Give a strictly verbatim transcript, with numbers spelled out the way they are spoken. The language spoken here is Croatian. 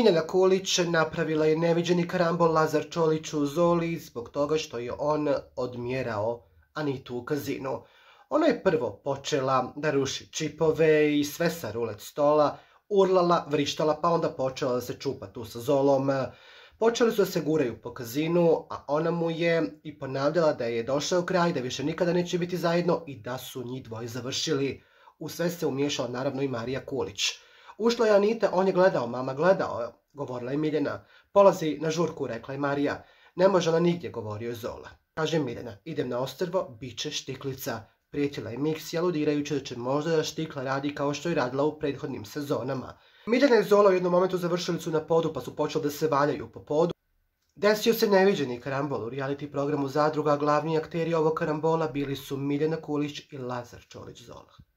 Miljana Kulić napravila je neviđeni karambol Lazar Čoliću u Zoli zbog toga što je on odmjerao Anitu u kazinu. Ona je prvo počela da ruši čipove i sve sa rulet stola, urlala, vrištala, pa onda počela da se čupa tu sa Zolom. Počeli su da se guraju po kazinu, a ona mu je i ponavljala da je došao kraj, da više nikada neće biti zajedno i da su njih dvoje završili. U sve se umiješala naravno i Marija Kulić. Ušla je Anita, on je gledao, mama gledao, govorila je Miljana. Polazi na žurku, rekla je Marija. Ne može ona nigdje, govorio je Zola. Kaže Miljana, idem na ostrvo, bit će štiklica. Prijetila je Miksi, aludirajući da će možda da štikla radi kao što je radila u prethodnim sezonama. Miljana i Zola u jednom momentu završili su na podu, pa su počeli da se valjaju po podu. Desio se neviđeni karambol u reality programu Zadruga, glavni akteri ovog karambola bili su Miljana Kulić i Lazar Čolić Zola.